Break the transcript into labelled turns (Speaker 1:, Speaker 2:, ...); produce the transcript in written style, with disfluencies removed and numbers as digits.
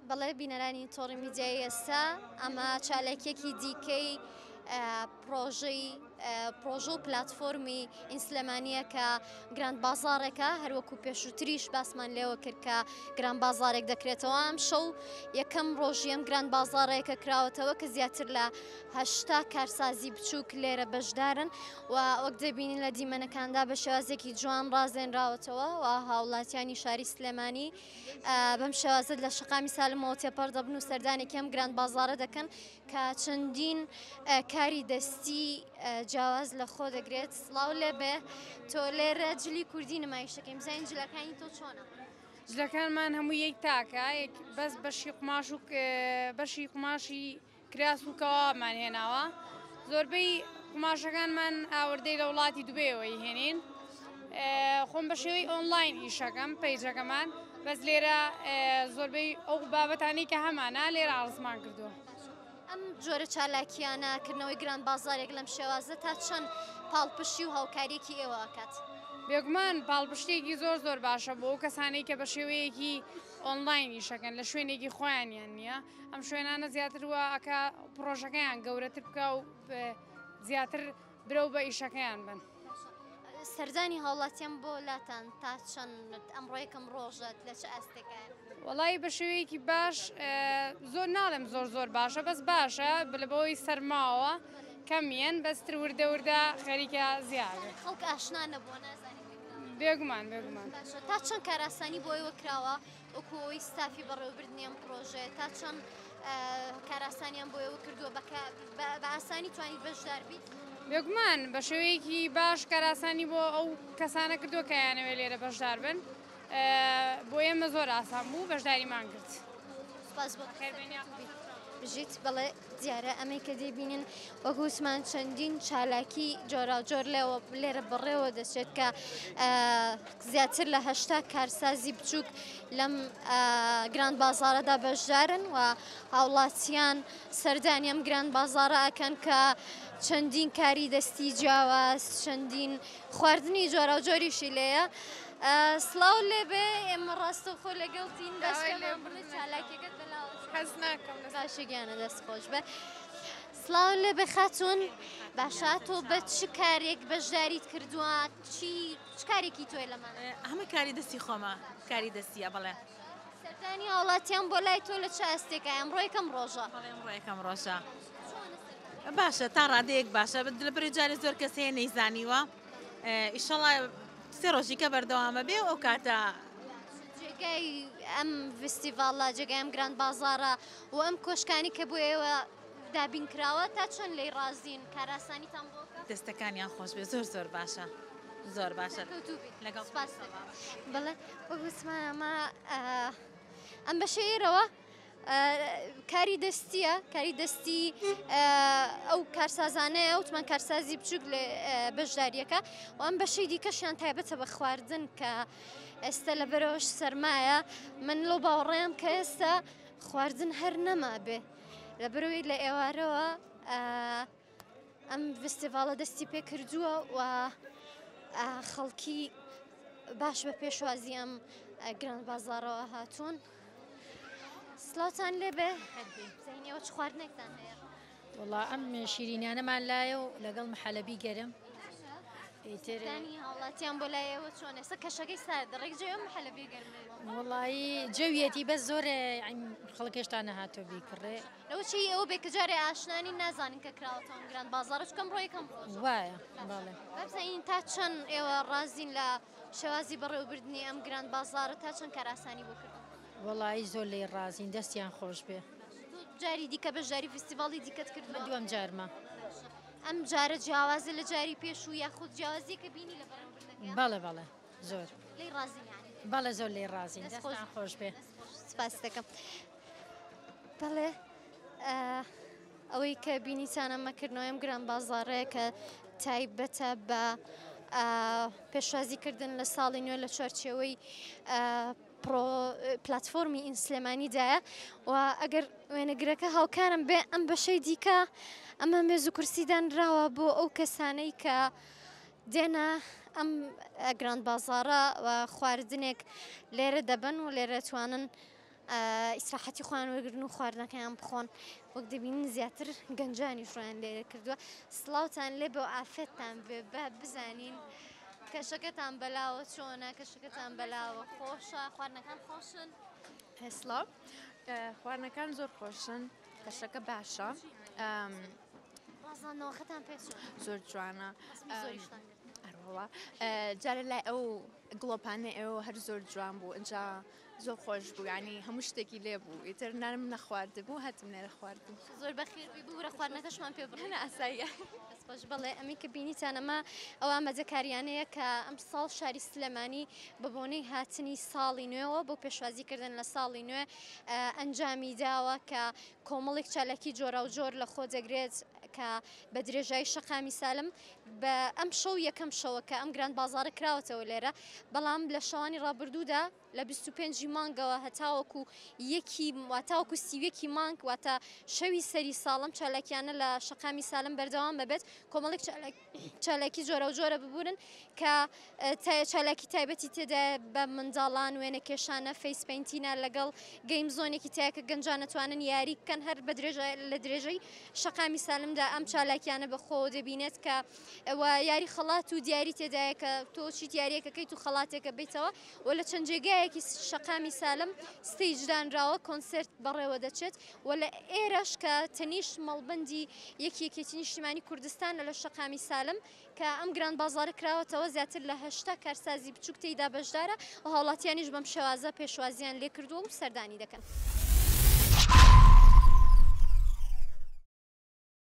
Speaker 1: بەڵێ بینەرانی تۆڕی میدیایی ئێستا ئەمە چالاکیەکی دیکەی پرۆژەی پرۆژە و پلتفۆرمی ئینسلێمانیە کە گراند بازارێکە هەروەکو پێشووتریش باسمان لێوە کرد کە گران بازارێک دەکرێتەوە ئەم شەو یەکەم ڕۆژی ئەم گران بازارێکە کراوەتەوە کە زیاتر لە 80 کارسازی بچووک لێرە بەشدارن و وەک دەبینین لە دیمەنەکاندا بە شێوازێکی جوان ڕازێنراوەتەوە و هاوڵاتیانی شاری سلێمانی بەم شێوازە لە شەقامی سالمەوە تێپەڕ دەبن و سەردانێکی ئەم گراند بازاڕە دەکەن کە چەندین کاری دەستی جیاواز لە خۆ دەگرێت. سڵاو لێبێ تۆ لێرە جلی کوردی نمایشەکەی بزانین جلەکانی تۆ چۆنە؟
Speaker 2: جلەکانمان هەموو یەک تاکە بەس بەشی قوماش و بەشی قوماشی کراس و کەوابمان هێناوە زۆربەی قوماشەکانمان ئاوردەی لە وڵاتی دوبەیەوە هێنین خۆم بە شێوەی ئۆنلاین ئیشەکەم پەیجەکەمان بەس لێرە زۆربەی ئەو بابەتانی کە هەمانە لێرە ئاڕزمان کردووە.
Speaker 1: ئەم جۆرە چالاکیانە کردنەوەی گران بازارێک لەم شێوازە تا چەند پاڵپشتی و هاوکاریەکی ئێوە ئەکات؟
Speaker 2: بێگومان پاڵپشتێکی زۆر زۆر باشە بۆ ئەو کەسانەی کە بە شێوەیەکی ئۆنلاین ئیشەکەن لە شوێنێکی خۆیانیان نییە ئەم شوێنانە زیاتر وا ئەکا پڕۆژەکەیان گەورەتر بکا و زیاتر برەو بە ئیشەکەیان بن.
Speaker 1: سەردانی هاوڵاتیان بۆ لاتان تا چەند ئەمڕۆ یەکەم ڕۆژەت لە چ ئاستێکایە؟
Speaker 2: وەڵایی بە شێوەیەکی باش زۆر ناڵێم زۆر زۆر باشە بەس باشە لە بەوەی سەرماوە کەمیەن بەس تر وردە وردە خەریکە زیاد
Speaker 1: خەڵک ئاشنا نەبووە نازانێت
Speaker 2: بێگومان بێگومان
Speaker 1: باشە تا چەند کارئاسانی بۆ ئێوە کراوە وەکو ئەوەی ستافی بەڕێوەبردنی ئەم پڕۆژەیە تا چەند کارئاسانیان بۆ ئێوە کردووە بە ئاسانی توانیت بەشدار بیت؟
Speaker 2: بێگومان بە شێوەیەکی باش کارئاسانی بۆ ئەو کەسانە کردووە کە یانەوێ لێرە بەشدار بن بۆ ئێمە زۆر ئاسان بوو بەشداریمان کرد.
Speaker 1: سپاس بۆ بژیت بەڵێ دیارە ئەمەی کە دەیبینن وەک وتمان چەندین چالاکی جۆراوجۆر لێوە لێرە بەڕێوە دەچێت کە زیاتر لە 80 کارسازی بچووک لەم گراند بازارەدا بەشدارن و هاوڵاتیان سەردانی ئەم گراند بازارە ئەکەن کە چەندین کاری دەستی جیاواز چەندین خواردنی جۆراوجۆریشی لێیە. سڵاو لێبێ ئێمە ڕاستەوخۆ لەگەڵتین باش پێمان بڵێ چالاکیەکەت بەلاوە چۆنە؟
Speaker 2: حەز ناکەم لەسەر
Speaker 1: باشە گیانە دەست خۆش بێ. سڵاو لێبێ خاتوون باشە تۆ بە چ کارێک بەشداریت کردووە چی چ کارێکی تۆیە لەمانە؟
Speaker 3: هەمووی کاری دەستی خۆمە کاری دەستیە بەڵێ.
Speaker 1: سەردانی هاوڵاتیان بۆ لای تۆ لە چ ئاستێکە ئەمڕۆ یەکەم ڕۆژە؟
Speaker 3: بەڵێ ئەمڕۆ یەکەم ڕۆژە. باشە تا ڕادەیەک باشە لە بەرەی جارێ زۆر کەس هەیە نەیزانیوە ئیشەڵا سێ ڕۆژیکە بەردەوامە بێ و ئەو کاتە
Speaker 1: جێگای ئەم فستیڤاڵە جێگای ئەم گراند بازاڕە و ئەم کۆشکانی کە بۆ ئێوە دابین کراوە تا چەند لێی ڕازین کارئاسانیتان بۆ کە؟
Speaker 3: دەستەکانیان خۆش بێ زۆر زۆر باشە زۆر باشە
Speaker 1: سەرکەوتوو بیت
Speaker 3: لەگەڵ
Speaker 1: سپاس دەکەم بەڵێ وەک وتمان ئەمە ئەم بەشەی ئێرەوە کاری دەستیە کاری دەستی ئەو کارسازانەیە وتمان کارسازی بچووک لە بەشداریەکە و ئەم بەشەی دیکەشیان تایبەتە بە خواردن کە ئێستا لە بەرەوەش سەرمایە من لەو باوەڕێم کە ئێستا خواردن هەر نەما بێ لە بەرەوەی لە ئێوارەوە ئەم ڤستیڤاڵە دەستی پێ کردووە و خەڵکی باش بە پێشوازی ئەم گران بازاڕەوە هاتوون. سڵاوتان لێبێ زەینەوە چ خواردنێکتان هەیە؟
Speaker 4: وەڵا ئەم شیرینانەمان لایە و لەگەڵ محەلەبی گەرم
Speaker 1: ئیتر هاوڵاتیان بۆ لای ئێوە چۆن ئێستا کەشەکەی سارد ڕێک جێ ئەم محەلەبی گەرمە
Speaker 4: وەڵایی جەویەتی بەس زۆر خەڵک هێشتا نەهاتووە بیکڕێ
Speaker 1: لەوە چی ئەوە بێ کە جارێ ئاشنا نین نازانن کە کراوەتەوە ئەم گران بازاڕە چونکە ئەمڕۆ یەکەم ڕۆژە.
Speaker 4: وایە بەڵێ.
Speaker 1: با بزانین تا چەند ئێوە ڕازین لە شێوازی بەڕێوەبردنی ئەم گران بازاڕە تا چەند کارئاسانی بۆ کردوون؟
Speaker 4: وەڵایی زۆر لێی ڕازین دەستیان خۆش بێ.
Speaker 1: تۆ جاری دیکە بەشداری فیستیڤاڵی دیکەت کردووە؟
Speaker 4: من دووەم جارمە.
Speaker 1: باشە ئەم جارە جیاوازە لە جاری پێشوو یاخود جیاوازییەکە بینی لە بەڕێوەبردنەکەیا؟
Speaker 4: بەڵێ بەڵێ زۆر.
Speaker 1: لێی ڕازین یانی؟
Speaker 4: بەڵێ زۆر لێی ڕازین دەستتان خۆش بێ.
Speaker 1: دەست خۆش سپاست دەکەم. بەڵێ ئەوەی کە بینیتان ئەمە کردنەوەی ئەم گران بازاڕەیە کە تایبەتە بە پێشوازیکردن لە ساڵی نوێ لە چوارچێوەی پلتفۆرمی ئین سلێمانیدایە و ئەگەر وێنەگرەکە هاوکارم بێ ئەم بەشەی دیکە ئەمە مێز و کورسی دانراوە بۆ ئەو کەسانەی کە دێنە ئەم گران بازاڕە و خواردنێک لێرە دەبن و لێرە توانن. ئیسراحەتی خۆیان وەرگرن و خواردنەکەیان بخۆن وەک دەبینین زیاتر گەنجانیش ڕویان لێرە کردووە سڵاوتان لێ بێ و ئافێتتان بێ با بزانین کەشەکەتان بەلاوە چۆنە کەشەکەتان بەلاوە خۆشە خواردنەکان خۆشن
Speaker 5: سڵاو خواردنەکان زۆر خۆشن کەشەکە باشە
Speaker 1: ڕازاندنەوەکەتان پێ چۆنە
Speaker 5: زۆر جوانە
Speaker 1: زۆریشتان گرت
Speaker 5: ئەرەوەڵا جارە لای ئەو گڵۆپانەی ئێوە هەر زۆر جوان بوو ئینجا زۆر خۆش بوو یعنی هەموو شتێکی لێ بوو ئیتر نانم نەخواردبوو هاتم لێرە خواردم.
Speaker 1: زۆر بەخێر بی ببورە خواردنەکەشمان پێ بڕی.
Speaker 5: نا ئاساییە.
Speaker 1: دەست خۆش بەڵێ ئەمەی کە بینیتان ئەمە ئەو ئامادەکاریانەیە کە ئەمساڵ شاری سلێمانی بە بۆنەی هاتنی ساڵی نوێوە بۆ پێشوازیکردن لە ساڵی نوێ ئەنجامی داوە کە کۆمەڵێک چالاکی جۆراوجۆر لە خۆ دەگرێت کە بە درێژایی شەقامی سالم بە ئەم شەو یەکەم شەوە کە ئەم گراند بازاڕە کراوەتەوە لێرە بەڵام لە شەوانی ڕابردوودا لە 25 ی مانگەوە هەتاوەکو یەکی واتاوەکو 31 ی مانگ واتە شەوی سەری ساڵم چالاکیانە لە شەقامی سالم بەردەوام بەبێت کۆمەڵێک چالاکی جۆراوجۆرە ببورن کە چالاکی تایبەتی تێدایە بە منداڵان وێنەکێشانە face painting ە لەگەڵ game zone ێکی تایە کە گەنجان ئەتوانن یاری بکەن هەر بە لە درێژەی شەقامی سالمدا ئەم چالاکیانە بەخۆوە دەبینێت کە یاری خەڵات و دیاری تێدایە کە تۆ چیت یاریەکەکەیت و خەڵاتێکە بیتەوە و لە چەند جێگایەکی شەقامی سالم stage دانراوە کۆنسێرت بەڕێوە دەچێت و لە ئێرەش کە تەنیشت مەڵبەندی یەکی یەکێتی نیشتیمانی کوردستانە لە شەقامی سالم کە ئەم گراند بازاڕە کراوەتەوە زیاتر لە 80 کارسازی بچووک تێیدا بەشدارە و هاوڵاتیانیش بەم شێوازە پێشوازیان لێکردووە و سەردانی دەکەن.